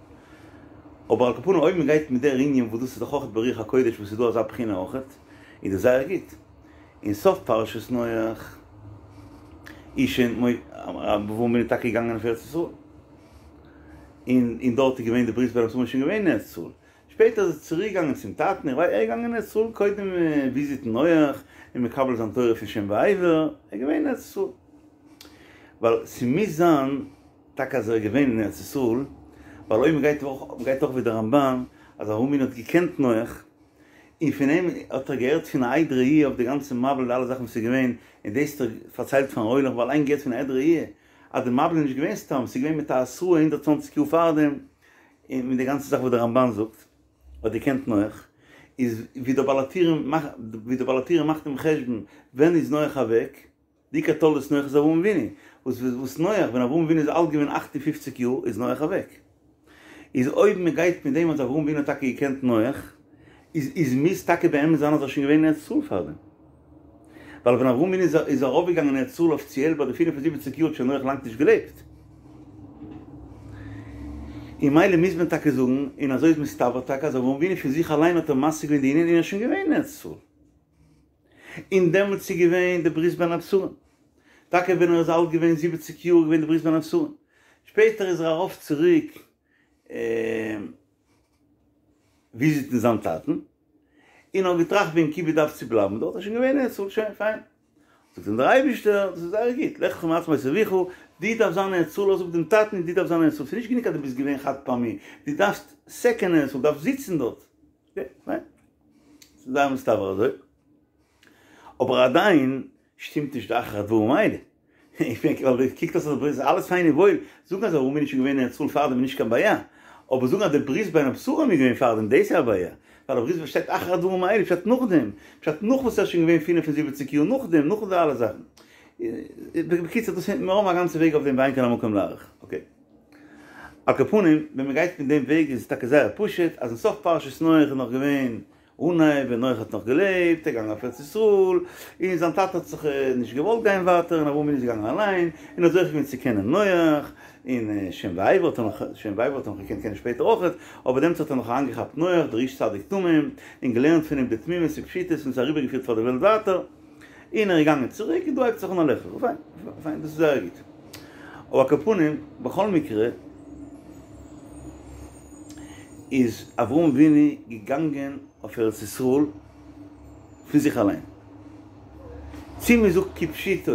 אבער על כל פנים אויב מ'גייט מיט דער ענין וואס דאס איז דאך אויכעט ברוח הקודש וואס איז דא אזא בחינה אויכעט, איז דאס זייער גוט. אין סוף פרשת נח איז שוין אברהם אבינו טאקע געגאנגען אויף ארץ ישראל. און און דארט איז געווען די ברית בין הבתרים איז שוין געווען אין ארץ ישראל. שפעטער איז ער צוריק געגאנגען צום טאטן, איך ווייס ער איז געגאנגען אין ארץ ישראל קודם וויזיטן נח און מקבל זיין תורה פון שם ועבר, ער איז געווען אין ארץ ישראל. ווייל ס'מוז זיין טאקע אז ער איז געווען אין ארץ ישראל, ווייל אויב מ'גייט אויך מ'גייט אויך ווי די רמב"ן אז אברהם אבינו האט געקענט נח, און פון אים האט ער געהערט פון א עד ראי' אויף די גאנצע מבול די אלע זאכן וואס איז געווען, און דאס האט ער פארציילט פארן עולם ווייל אליין געהערט פון א עד ראי' אז די מבול איז נישט געווען סתם, ס'איז געווען מיט א התראה הונדערט צוואנציג יאר פארדעם, און מיט די גאנצע זאך וואס די רמב"ן זאגט, האט געקענט נח, איז ווי דער בעל הטורים מאכט, ווי דער בעל הטורים מאכט דעם חשבון ווען איז נח אוועק, די עיקר תולדות נח איז אברהם אבינו, וואס וואס נח, ווען אברהם אבינו איז אלט געווען אכט און פופציג יאר איז נח אוועק. איז אויב מען גייט מיט דעם אז אברהם אבינו האט טאקע געקענט נח, איז איז מוז טאקע באמת זיין אז ער איז שוין געווען אין ארץ ישראל פארדעם. ווייל ווען אברהם אבינו איז איז ארויפגעגאנגען אין ארץ ישראל אפיציעל ביי די פינף און זיבעציק יאר האט שוין נח לאנג נישט געלעבט. און ממילא מוז מען טאקע זאגן, און אזוי איז מסתבר טאקע אז אברהם אבינו פון זיך אליין האט ער משיג געווען די ענין און ער איז שוין געווען אין ארץ ישראל. און דעמאלטס איז געווען די ברית בין הבתרים. טאקע ווען ער איז אלט געווען זיבעציק יאר איז געווען די ברית בין הבתרים. שפעטער איז ער ארויף צוריק וויזיטן זיין טאטן, און האט געטראכט וועגן כיבוד אב צו בלייבן דארט, ער איז שוין געווען אין ארץ ישראל, שוין פיין. זאגט אים דער אייבערשטער, דאס איז זייער גוט, לך לך מעצמות אביך, דו דארפסט זיין אין ארץ ישראל, לאז אפ דעם טאטן און דו דארפסט זיין אין ארץ ישראל, ס'איז נישט גענוג אז דו ביסט געווען חד פעמי, דו דארפסט סעקענד אין ארץ ישראל, דו דארפסט זיצן דארט. אקעי, פיין. ס'איז זייער מסתבר אזוי. אבער עדיין שטימט נישט די אחר הדברים האלה. איך מיין, ווייל דאס קוקט אויס אז ס'איז אלעס פיין און וואויל, זאגן אז אברהם אבינו איז שוין געווען אין ארץ ישראל פארדעם איז נישט קיין בעיה. אבער זאגן אז די ברית בין הבתרים איז געווען פארדעם, דאס איז א בעיה. ווייל די ברית שטייט אחר הדברים האלה, פשט נאכדעם. פשט נאך וואס ער איז שוין געווען פינף און זיבעציק יאר נאכדעם, נאך די אלע זאכן. בקיצור, דאס מיר האבן א גאנצע וועג אויף דעם ואין כאן המקום להאריך. אקעי. על כל פנים, ווען מען גייט מיט דעם וועג איז עס טאקע זייער פשוט, אז אין סוף פרשת נח איז נאך געווען אנהייב ווען נח האט נאך געלעבט, ער איז געגאנגען אויף ארץ ישראל, און זיין טאטע האט זיך נישט געוואלט גיין ווייטער, און אברהם אבינו איז געגאנגען אליין, און האט זוכה געווען צו קענען נח, און שם ועבר האט ער נאך, שם ועבר האט ער נאך געקענט קענען שפעטער אויכעט, אבער דעמאלטס האט ער נאך אריינגעכאפט נח, דער איש צדיק תמים, און געלערנט פון אים די תמימות און פשיטות און עס אריבערגעפירט פאר די וועלט ווייטער. און ער איז געגאנגען צוריק און דא הייבט זיך אן א לך לך, פיין, פיין, דאס איז זייער גוט. אבער על כל פנים, בכל מקרה, איז אברהם אבינו געגאנגען אויף ארץ ישראל פון זיך אליין. צי מען זאגט כפשוטו,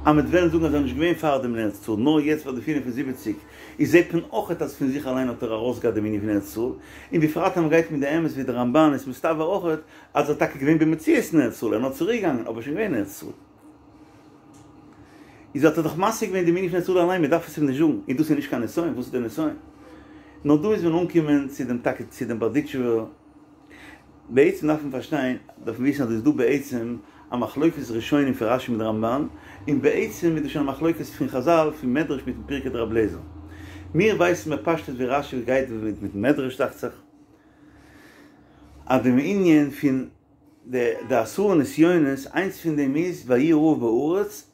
אז מ'וועט וועלן זאגן אז ער איז נישט געווען פארדעם אין ארץ ישראל, נאר יעצט ביי די פינף און זיבעציק, איז זעט מען אויכעט אז פון זיך אליין האט ער ארויסגעהאט דעם ענין פון ארץ ישראל, און בפרט אז מען גייט מיט די אמת ווי די רמב"ן איז מסתבר אויכעט אז ער איז טאקע געווען במציאות אין ארץ ישראל, ער איז נאר צוריק געגאנגען, אבער שוין געווען אין ארץ ישראל. איז האט ער דאך משיג געווען דעם ענין פון ארץ ישראל אליין, מען דארף עס אים נישט זאגן, און דאס איז נישט קיין נסיון, וואס איז דער נסיון? נאר דא מוז מען אנקומען צו דעם טאקע צו דעם בארדיטשובער, בעצם דארף מען פארשטיין, דארף מען וויסן אז דא איז דא בעצם א מחלוקת ראשונים פון רש"י מיט רמב"ן, און בעצם איז דא שוין א מחלוקת פון חז"ל פון מדרש מיטן פרקי דרבי אליעזר. מיר ווייסן בפשטות ווי רש"י גייט מיטן מדרש דאכט זיך, אז דעם ענין פון די די עשרה נסיונות, איינס פון דעם איז ויהי הרעב בארץ,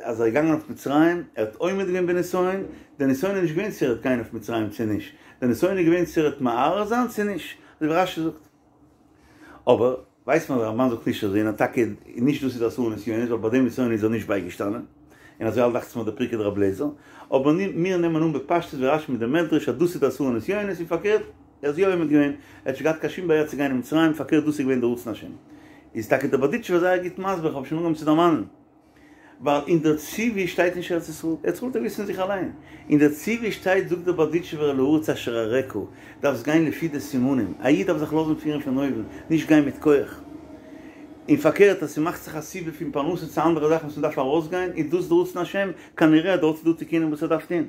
אז ער איז געגאנגען אויף מצרים, ער האט עומד געווען בנסיון, דער נסיון איז נישט געווען צו ער וועט גיין אויף מצרים צו נישט, דער נסיון איז געווען צו ער וועט מהרהר זיין צו נישט, אזוי ווי רש"י זאגט. אבער ווייסט מען אז דער רמב"ן זאגט נישט אזוי, און טאקע נישט דאס איז די עשרה נסיונות, ווייל ביי דעם נסיון איז ער נישט בייגעשטאנען, און אזוי אלט דאכט זיך מיר דער פרקי דרבי אליעזר, אבער מיר נעמען אן בפשטות ווי רש"י מיט דעם מדרש אז דאס איז די עשרה נסיונות, און פארקערט, ער איז יא עומד געווען, ער האט נישט געהאט קיין שום בעיה צו גיין אין מצרים, פארקערט דאס איז געווען דער רצון השם. איז טאקע דער בארדיטשובער זייער גוט מסביר, איך האב שוין אנגעהויבן צו דערמאנען, ווייל אין דער ציווי שטייט נישט ארץ ישראל, ארץ ישראל האט ער געוואוסט פון זיך אליין, אין דער ציווי שטייט זאגט דער בארדיטשובער אל הארץ אשר אראך, דארפסט גיין לפי די סימנים, א איד דארף זיך לאזן פירן פון אויבן, נישט גיין מיט כח. און פארקערט אז ס'מאכט זיך א סיבה פון פרנסה צו אנדערע זאכן וואס מ'דארף ארויסגיין, איז דאס דער רצון השם, כנראה דארט איז דא תיקונים וואס ער דארף טון.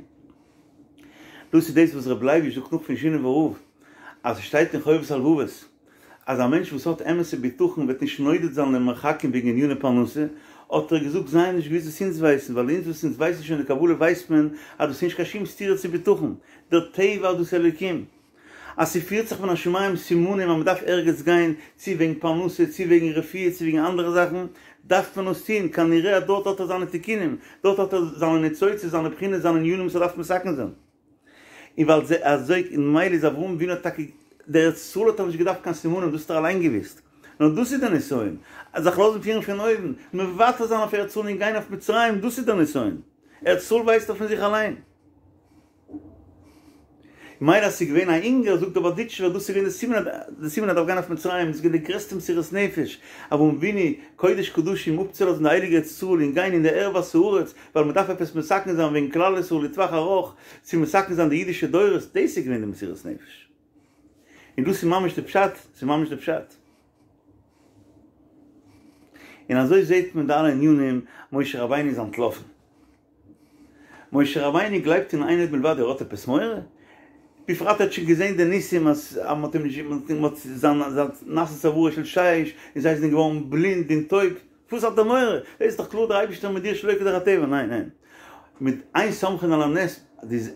דאס איז דאס וואס ר' לייביש זאגט נאך פון שינאווער רב, אז עס שטייט אין חובת הלבבות אז א מענטש וואס האט אמת'ע בטחון וועט נישט נודד זיין למרחקים וועגן עניני פרנסה, האט ער געזאגט זיי האבן נישט געוואוסט וואס אונז ווייסן, ווייל אונז וואס אונז ווייסן שוין די קבלה ווייסט מען אז דאס איז נישט קיין שום סתירה צו בטחון, דער טבע איז דאס אלוקים. אז ס'פירט זיך מן השמים סימנים אז מ'דארף ערגעץ גיין, צו וועגן פרנסה, צו וועגן רפואה, צו וועגן אנדערע זאכן, דארף מען עס טון, כנראה אז דארט האט ער זיינע תיקונים, דארט האט ער זיינע ניצוצות, זיינע בחינות, זיינע ענינים וואס ער דארף מתקן זיין. און ווייל זיי אזוי, און ממילא איז אברהם אבינו האט טאקע, דער ארץ ישראל האט ער נישט געדארפט קיין סימנים, דאס האט ער אליין געוואוסט. נאר דאס איז דער נסיון, זיך לאזן פירן פון אויבן, מוותר זיין אויף ארץ ישראל און גיין אויף מצרים, דאס איז דער נסיון. ארץ ישראל ווייסט ער פון זיך אליין. מילא אז ס'איז געווען א הונגער, זאגט דער בארדיטשובער, דאס איז געווען די סימן, די סימן אז ער דארף גיין אויף מצרים, דאס איז געווען די גרעסטע מסירות נפש, אברהם אבינו, קודש קדשים, אפצולאזן די הייליגע ארץ ישראל און גיין אין די ערות הארץ, ווייל מען דארף עפעס מתקן זיין וועגן כלל ישראל לטווח ארוך, צו מתקן זיין די אידישע דורות, דאס איז געווען די מסירות נפש. און דאס איז ממש די פשט, ס'איז ממש די פשט. און אזוי זעט מען די אלע ענינים, משה רבינו איז אנטלאפן. משה רבינו גלייבט אין אין עוד מלבדו, ער האט עפעס מורא? בפרט ער האט שוין געזען די ניסים אז מען האט אים נישט, מען האט זיין נעשה צווארו של שיש און זיי זענען געווארן בלינד און טויב, וואס האט ער מורא? דאס איז דאך קלאר דער אייבערשטער מיט דיר שלא כדרך הטבע, ניין ניין, מיט אין סומכין על הנס,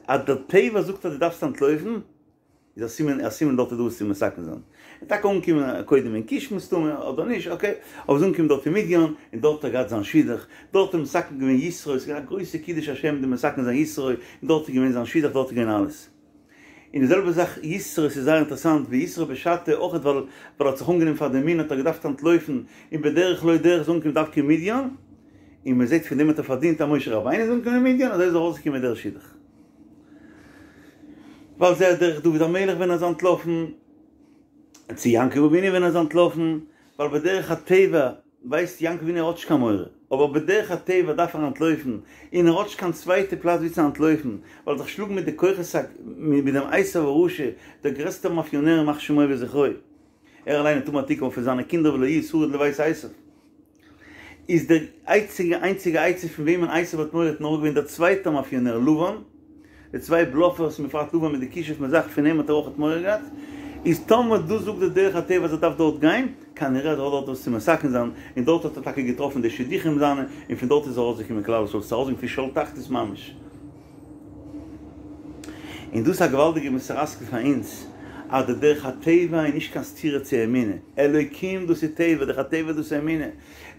אז דער טבע זאגט אז דו דארפסט אנטלויפן, איז א סימן, א סימן דארט איז דא וואס צו מתקן זיין. ער איז טאקע אנגעקומען קודם אין כוש מסתמא, אדער נישט, אקעי, אבער איז אנגעקומען דארט אין מדין, און דארט האט ער געהאט זיין שידוך, דארט האט ער מתקן געווען יתרו, עס איז געווען א גרויסע קידוש השם די מתקן זיין יתרו, און דארט איז געווען זיין שידוך, דארט איז געווען אלעס. און די זעלבע זאך יתרו, עס איז זייער אינטערעסאנט, ווי יתרו בשעתו אויך ווייל ווייל ער האט זיך אנגענומען פאר די אמונה האט ער געדארפט אנטלויפן, און בדרך לא דרך איז אנגעקומען דווקא אין מדין, און מען זעט פון דעם האט ער פארדינט אז משה רבינו איז אנגעקומען אין מדין, אזוי איז ארויסגעקומען דער שידוך. ועל זה דרך דוד המלך ווען ער איז אנטלאפן, צו יעקב אבינו ווען ער איז אנטלאפן, ווייל בדרך הטבע ווייסט יעקב אבינו ער האט נישט קיין מורא, אבער בדרך הטבע דארף ער אנטלויפן, און ער האט נישט קיין צווייטע פלאץ ווי צו אנטלויפן, ווייל זיך שלאגן מיט די כוחות ה, מיט דעם עשו הרשע, דער גרעסטער מאפיאנער ימח שמו וזכרו, ער אליין האט אן תיקון פון זיינע קינדער ולא יהיה שריד לבית עשו. איז די איינציגע איינציגע עצה פון וועמען עשו האט מורא האט נאר געווען דער צווייטער מאפיאנער לבן, די צוויי בלאפערס און בפרט לבן מיט די כישוף מיט זאך פון אים האט ער אויכעט מורא געהאט, איז טאמער דאס זאגט די דרך הטבע אז ער דארף דארט גיין, כנראה אז ער האט דארט וואס צו מתקן זיין, און דארט האט ער טאקע געטראפן די שידוכים זיינע, און פון דארט איז ארויסגעקומען כלל ישראל, ס'איז ארויסגעקומען פון שאול תחתית ממש. און דאס איז א געוואלדיגע מוסר השכל פאר אונז, אז די דרך הטבע איז נישט קיין סתירה צו אמונה, אלוקים דאס איז טבע, דרך הטבע דאס איז אמונה,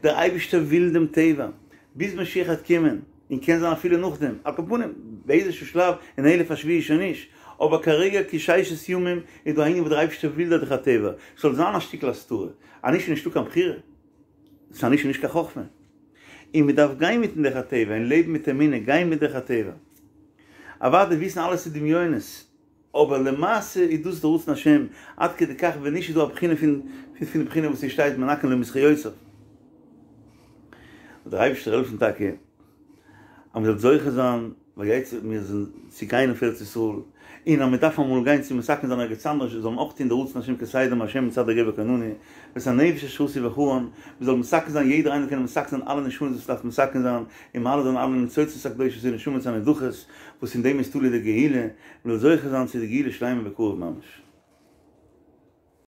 דער אייבערשטער וויל דעם טבע, ביז משיח וועט קומען, און קען זיין אפילו נאכדעם, על כל פנים, באיזשהו שלב, אין אלף השביעי שוין נישט, אבער כרגע כששת ימים איז דא א ענין וואס דער אייבערשטער וויל די דרך הטבע, ס'זאל זיין א שטיקל הסתרה, אז נישט איז נישטא קיין בחירה, ס'איז נישט נישט קיין חכמה. און מען דארף גיין מיטן דרך הטבע און לעבן מיט אמונה, גיין מיט דרך הטבע. אוודאי וויסן אלעס איז דמיונות, אבער למעשה איז דאס די רצון השם, עד כדי כך ווען נישט איז דא א בחינה פון פון די בחינה וואס עס שטייט מנכין לו מזכיותיו. זאל דער אייבערשטער העלפן טאקע אז מען זאל זוכה זיין ויצא מיר זענען צו גיין אויף ארץ ישראל, און אז מען דארף אמאל גיין צו מתקן זיין ערגעץ אנדערש זאל מען אויך טון די רצון השם כסדר מהשם מצעד הגבר כוננו, ואת הנפש אשר עשו בחרן, מען זאל מתקן זיין יעדער איינער קען מתקן זיין אלע נשמות וואס דארף מתקן זיין, און מעלה זיין אלע ניצוצות הקדושות און נשמות הנדחות, וואס אין דעם איז תלוי די גאולה, מען זאל זוכה זיין צו די גאולה שלימה בקרוב ממש.